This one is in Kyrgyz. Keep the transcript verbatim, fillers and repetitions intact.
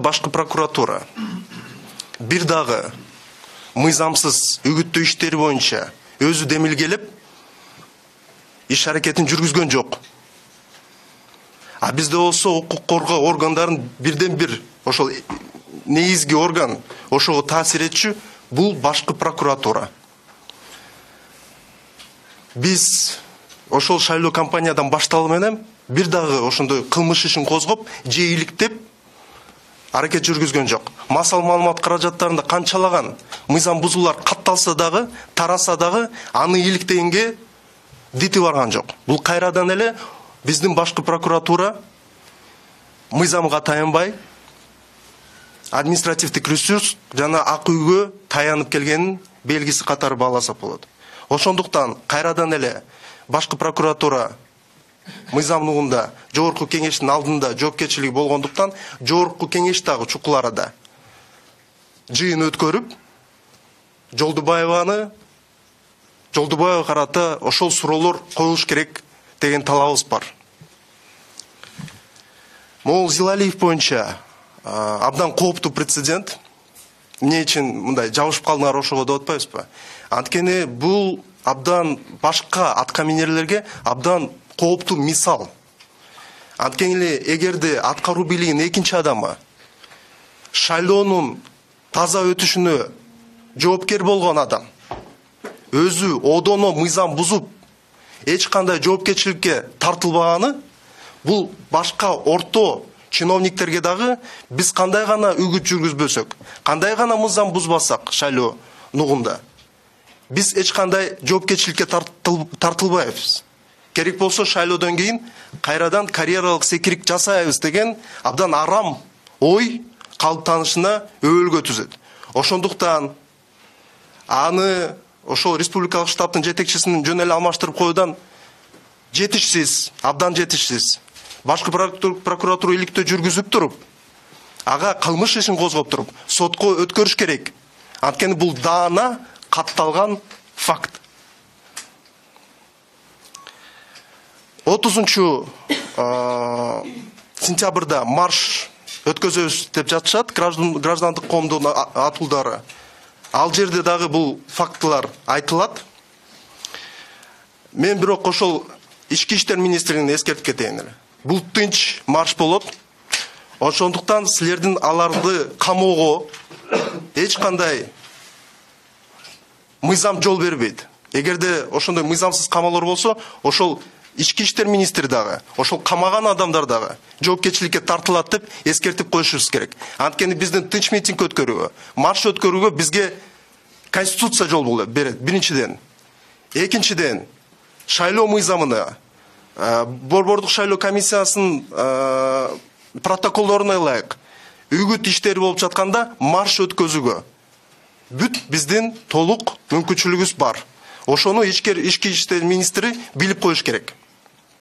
Башкы прокуратура бир дагы мыйзамсыз үгүттөө иштери боюнча өзү демилгелеп иш аракетин жүргүзгөн жок. А бизде болсо укук коргоо органдарын бирден бир ошол негизги орган ошого таасир этчү бул башкы прокуратура. Биз ошол шайлоо кампаниядан башталуу менен бир дагы ошондой кылмыш ишин козгоп же иликтеп аракет жүргүзгөн жок. Масал маалымат каражаттарында канчалаган мыйзам бузуулар катталса дагы, тараса дагы аны иликтегенге дити барган жок. Бул кайрадан эле биздин башкы прокуратура мыйзамга таянбай административдик ресурс жана ак үйгө таянып келгенин белгиси катары бааласак болот. Ошондуктан кайрадан эле башкы прокуратура мыйзамдуулугунда жогорку кеңештин алдында жоопкерчилиги болгондуктан жогорку кеңеш дагы чукул арада жыйын өткөрүп Жолдубаеваны Жолдубаева карата ошол суроолор коюлуш керек деген талабыбыз бар. Могул Зилалиев боюнча абдан кооптуу прецедент. Эмне үчүн мындай жабышып калдыңар ошого деп атпайбызбы? Анткени бул абдан башка аткаминерлерге абдан кооптуу мисал. Анткени эле эгерде аткаруу бийлигинин экинчи адамы шайлоонун таза өтүшүнө жоопкер болгон адам өзү одоно мыйзам бузуп эч кандай жоопкерчиликке тартылбаганы бул башка орто чиновниктерге дагы биз кандай гана үгүт жүргүзбөсөк, кандай гана мыйзам бузбасак шайлоо нугунда биз эч кандай жоопкерчиликке тартылбайбыз. Керек болсо шайлоодон кийин кайрадан карьералык секирик жасайбыз деген абдан арам ой калыптанышына өбөлгө түзөт. Ошондуктан аны ошол республикалык штабтын жетекчисин жөн эле алмаштырып коюудан жетишсиз, абдан жетишсиз. Башкы прокуратура иликтөө жүргүзүп туруп, ага кылмыш ишин козгоп туруп, сотко өткөрүш керек. Анткени бул даана катталган факт. отузунчу сентябрда марш өткөзөбүз деп жатышат граждандык коомдун атуулдары. Ал жерде дагы бул фактылар айтылат. Мен бирок ошол ички иштер министрлигине эскертип кетейин эле. Бул тынч марш болот. Ошондуктан силердин аларды камоого эч кандай мыйзам жол бербейт. Эгерде ошондой мыйзамсыз камалар болсо, ошол ички иштер министри дагы, ошол камаган адамдар дагы жоопкерчиликке тартылат деп эскертип коюшубуз керек. Анткени биздин тынч митинг өткөрүүгө, марш өткөрүүгө бизге конституция жол берет. Биринчиден. Экинчиден, шайлоо мыйзамына, борбордук шайлоо комиссиясынын протоколдоруна ылайык үгүт иштери болуп жатканда марш өткөзүүгө бүт биздин толук мүмкүнчүлүгүбүз бар. Ошону ички иштер министри билип коюш керек.